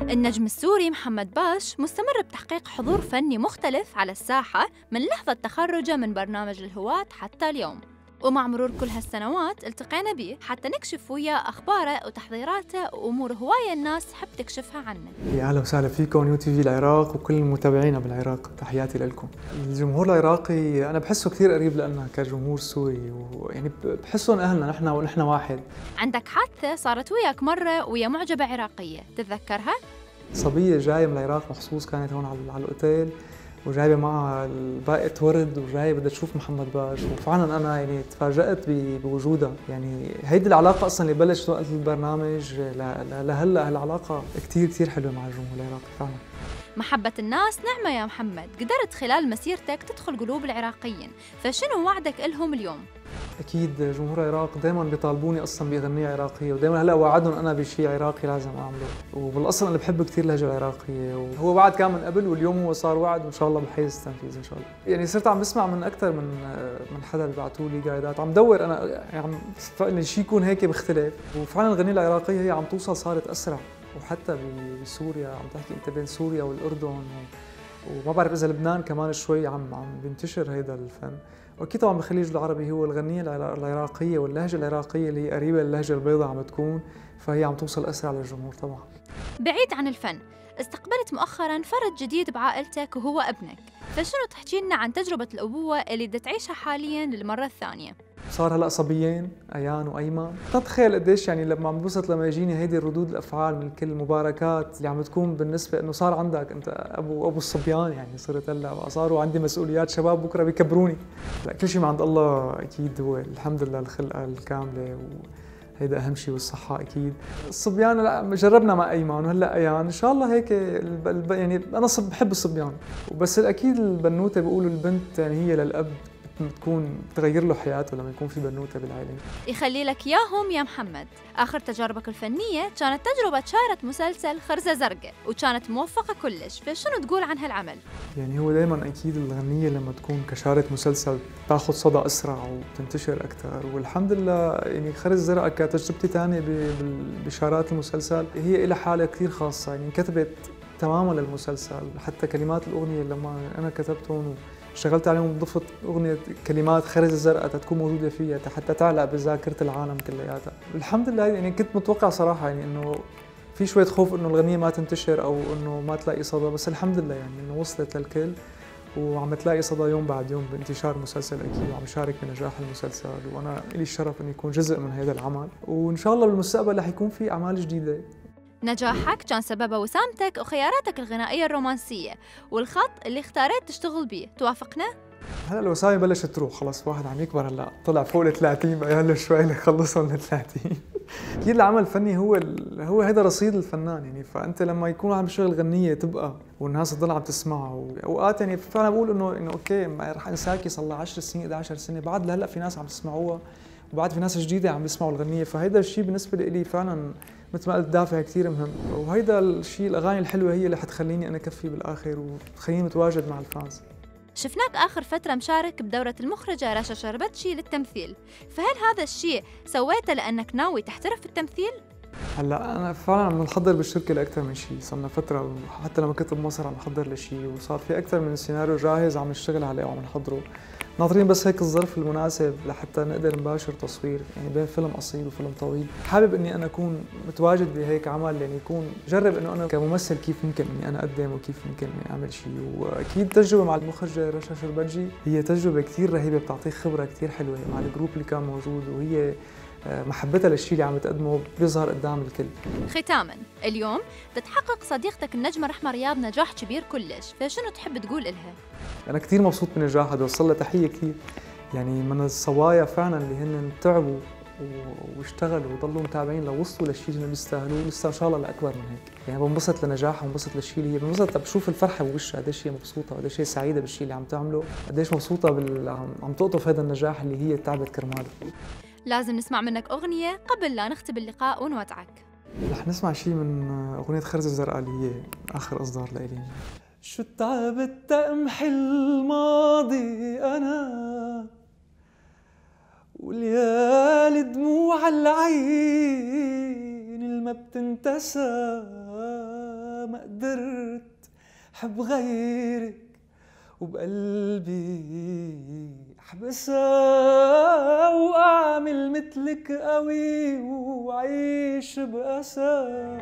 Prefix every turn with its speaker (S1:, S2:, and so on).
S1: النجم السوري محمد باش مستمر بتحقيق حضور فني مختلف على الساحة من لحظة تخرجه من برنامج الهواة حتى اليوم، ومع مرور كل هالسنوات التقينا به حتى نكشف وياه أخباره وتحضيراته وأمور هواية الناس تحب تكشفها عنه.
S2: يا أهلا وسهلا فيكم يو تي في العراق وكل المتابعين بالعراق، تحياتي لكم. الجمهور العراقي أنا بحسه كثير قريب لنا كجمهور سوري، ويعني بحسهم أهلنا ونحن واحد.
S1: عندك حادثة صارت وياك مرة ويا معجبة عراقية، تتذكرها؟
S2: صبية جاية من العراق مخصوص، كانت هون على الأوتيل وجايبه معها باقة ورد وجاية بدها تشوف محمد باش، وفعلا انا يعني تفاجأت بوجودها. يعني هيدي العلاقة اصلا اللي بلشت وقت البرنامج لهلا هالعلاقة كثير حلوة مع الجمهور العراقي فعلا.
S1: محبة الناس نعمة يا محمد، قدرت خلال مسيرتك تدخل قلوب العراقيين، فشنو وعدك لهم اليوم؟
S2: اكيد جمهور العراق دائما بيطالبوني اصلا باغنيه عراقيه، ودائما هلا وعدهم انا بشيء عراقي لازم اعمله، وبالاصل انا بحب كثير اللهجه العراقيه، وهو وعد كان من قبل واليوم هو صار وعد وان شاء الله بحيز التنفيذ ان شاء الله. يعني صرت عم بسمع من اكثر من حدا بيبعثوا لي جايدات، عم دور انا يعني عم شيء يكون هيك بيختلف، وفعلا الغنيه العراقيه هي عم توصل، صارت اسرع، وحتى بسوريا عم تحكي انت بين سوريا والاردن وما بعرف اذا لبنان كمان شوي عم بينتشر هيدا الفن. واكيد طبعا بالخليج العربي هو الغنيه العراقيه واللهجه العراقيه اللي هي قريبه للهجه البيضاء عم تكون، فهي عم توصل اسرع للجمهور طبعا.
S1: بعيد عن الفن، استقبلت مؤخرا فرد جديد بعائلتك وهو ابنك، فشنو تحكي لنا عن تجربه الابوه اللي بدها تعيشها حاليا للمره الثانيه؟
S2: صار هلا صبيين ايان وايمن، تتخيل قديش يعني لما عم بوصل لما يجيني هيدي الردود الافعال من كل المباركات اللي عم تكون بالنسبه انه صار عندك انت ابو الصبيان، يعني صرت هلا صاروا عندي مسؤوليات شباب بكره بيكبروني. لا كل شيء من عند الله اكيد، هو الحمد لله الخلقه الكامله هيدا اهم شيء، والصحه اكيد. الصبيان لا جربنا مع ايمن وهلا ايان ان شاء الله هيك يعني انا بحب الصبيان، وبس اكيد البنوته بيقولوا البنت يعني هي للاب بتكون تغير له حياته لما يكون في بنوته بالعائله.
S1: يخلي لك اياهم يا محمد. اخر تجاربك الفنيه كانت تجربه شارة مسلسل خرزه زرقاء وكانت موفقه كلش، فشنو تقول عن هالعمل؟
S2: يعني هو دائما اكيد الغنيه لما تكون كشارة مسلسل تاخذ صدى اسرع وبتنتشر اكثر، والحمد لله يعني خرزه زرقاء كتجربتي ثانيه بشارات المسلسل هي لها حاله كثير خاصه، يعني انكتبت تماما للمسلسل، حتى كلمات الاغنيه لما انا كتبتهم اشتغلت عليهم ضفت اغنيه كلمات خرزه زرقاء تكون موجوده فيها حتى تعلق بذاكره العالم كلياتها. الحمد لله يعني كنت متوقع صراحه يعني انه في شويه خوف انه الغنيه ما تنتشر او انه ما تلاقي صدى، بس الحمد لله يعني انه وصلت للكل وعم تلاقي صدى يوم بعد يوم بانتشار المسلسل اكيد، وعم شارك بنجاح المسلسل، وانا لي الشرف اني اكون جزء من هذا العمل، وان شاء الله بالمستقبل رح يكون في اعمال جديده.
S1: نجاحك كان سببه وسامتك وخياراتك الغنائية الرومانسية والخط اللي اختاريت تشتغل بيه، توافقنا؟
S2: هلا الوسامي بلشت تروح خلص، واحد عم يكبر هلا طلع فوق ال 30 بقى له شوي ليخلصهم ل 30. اكيد العمل الفني هو هذا رصيد الفنان، يعني فانت لما يكون عم يشتغل غنيه تبقى والناس تضل عم تسمعها، واوقات يعني فعلا بقول انه اوكي رح انساكي صار لها 10 سنين 11 سنه بعد لهلا في ناس عم يسمعوها، وبعد في ناس جديده عم يسمعوا الغنيه، فهيدا الشيء بالنسبه لي فعلا مثل ما قلت دافع كثير مهم، وهيدا الشيء الاغاني الحلوه هي اللي حتخليني انا كفي بالاخر وتخليني متواجد مع الفانز.
S1: شفناك آخر فترة مشارك بدورة المخرجة رشا شربتشي للتمثيل، فهل هذا الشيء سويته لأنك ناوي تحترف في التمثيل؟
S2: هلا أنا فعلا عم نحضر بالشركة لأكثر من شيء، صرنا فترة حتى لما كنت بمصر عم نحضر لشيء، وصار في أكثر من سيناريو جاهز عم نشتغل عليه وعم نحضره، ناطرين بس هيك الظرف المناسب لحتى نقدر نباشر تصوير، يعني بين فيلم قصير وفيلم طويل. حابب إني أنا أكون متواجد بهيك عمل، يعني يكون جرب إنه أنا كممثل كيف ممكن إني أنا أقدم وكيف ممكن إني أعمل شيء، وأكيد تجربة مع المخرجة رشا شربتجي هي تجربة كثير رهيبة، بتعطيك خبرة كثير حلوة مع الجروب اللي كان موجود، وهي محبتها للشيء اللي عم تقدمه بيظهر قدام الكل.
S1: ختاما، اليوم تتحقق صديقتك النجمة رحمة رياض نجاح كبير كلش، فشنو تحب تقول إلها؟
S2: أنا كثير مبسوط من نجاحها، بدي أوصل لها تحية كثير، يعني من الصبايا فعلا اللي هن تعبوا واشتغلوا وضلوا متابعين لوصلوا للشيء اللي بيستاهلوه، لسه ان شاء الله لاكبر من هيك، يعني بنبسط لنجاحها وبنبسط للشيء اللي هي بنبسط، بشوف الفرحه بوشها قديش هي مبسوطه وقديش هي سعيده بالشيء اللي عم تعمله، قديش مبسوطه عم تقطف هذا النجاح اللي هي تعبت كرماله.
S1: لازم نسمع منك أغنية قبل لا نختم اللقاء ونودعك.
S2: رح نسمع شيء من أغنية خرزة زرقاء اللي هي آخر إصدار لإلي. شو تعبت أمحي الماضي أنا وليالي دموع العين الما بتنتسى، ما قدرت حب غيرك وبقلبي احبسها واعمل مثلك قوي وعيش بأسى.